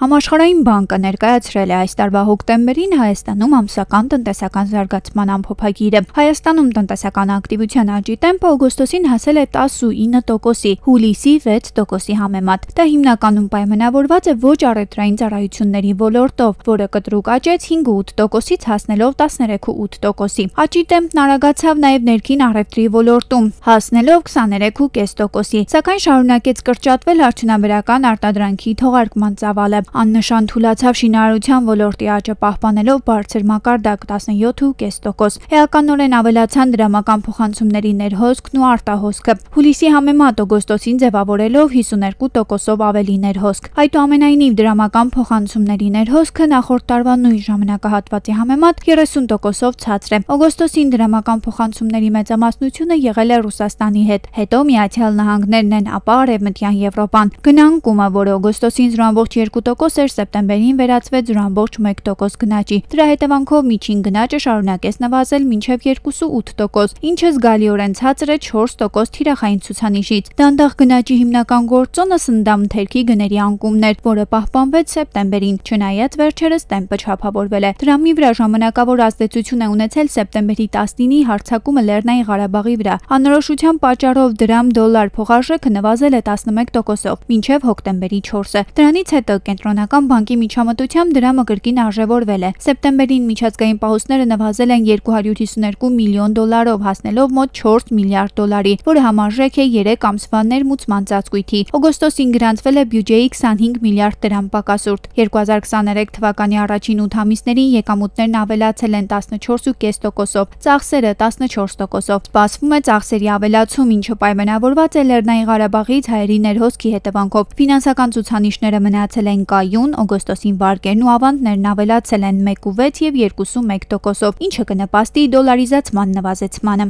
Համաշխարհային բանկը ներկայացրել է այս տարվա հոկտեմբերին Հայաստանում ամսական տնտեսական զարգացման ամփոփագիրը։ Հայաստանում տնտեսական ակտիվության աճի տեմպը օգոստոսին հասել է 19%-ի, հուլիսի 6%-ի համեմատ։ Դա հիմնականում պայմանավորված է ոչ առևտրային ծառայությունների ոլորտով, որը կտրուկ աճեց 5.8%-ից հասնելով 13.8%-ի։ Աճի տեմպն արագացավ նաև ներքին առևտրի ոլորտում, հասնելով 23.5%-ի, սակայն շարունակեց կրճատվել արդյունաբերական արտադրանքի թողարկման ծավալը։ Աննշան թուլացավ շինարարության ոլորտի աճը պահպանելով բարձր մակարդակ 17.5%։ Էականորեն ավելացան դրամական փոխանցումների ներհոսքն ու արտահոսքը, հուլիսի համեմատ օգոստոսին ձևավորելով 52%-ով ավելի ներհոսք։ Այդուամենայնիվ դրամական փոխանցումների ներհոսքը նախորդ տարվա նույն ժամանակահատվածի համեմատ 30%-ով ցածր է։ Օգոստոսին դրամական փոխանցումների մեծամասնությունը եղել է Ռուսաստանի հետ, հետո Միացյալ Նահանգներն են, ապա Արևմտյան Եվրոպան։ Գնանկումը, որը օգոստոսին 0.2% էր, սեպտեմբերին վերածվեց 0.1% գնաճի։ Դրա հետևանքով միջին գնաճը շարունակեց նվազել մինչև 2.8%, ինչը զգալիորեն ցածր է 4% թիրախային ցուցանիշից։ Դանդաղ գնաճի հիմնական գործոնը սննդամթերքի գների անկումն էր, որը պահպանվեց սեպտեմբերին, չնայած վերջերս տեմպը չափավորվել է։ Դրամի վրա ժամանակավոր ազդեցություն է ունեցել սեպտեմբերի 19-ի հարձակումը Լեռնային Ղարաբաղի վրա։ Անորոշության պատճառով դրամ-դոլար փոխարժեքը նվազել է 11%-ով, մինչև հոկտեմբերի 4-ը։ Դրանից հետո Կենտրոնական բանկի միջամտությամբ դրամը կրկին արժևորվել է։ Սեպտեմբերին միջազգային պահուստները նվազել են 252 միլիոն դոլարով, հասնելով մոտ 4 միլիարդ դոլարի, որը համարժեք է 3 ամսվա ներմուծման ծածկույթի։ Օգոստոսին գրանցվել է բյուջեի 25 միլիարդ դրամ պակասուրդ։ 2023 թվականի առաջին 8 ամիսներին եկամուտներն ավելացել են 14.5%-ով, ծախսերը 14%-ով։ Սպասվում է ծախսերի ավելացում, ինչը պայմանավորված է Լեռնային Ղարաբաղից հայերի ներհոսքի հետևանքով։ Ֆինանսական ցուցանիշները մնացել են կայուն, օգոստոսին վարկերն ու ավանդներն ավելացել են 1.6 և 2.1%-ով, ինչը կնպաստի դոլարիզացման նվազեցմանը։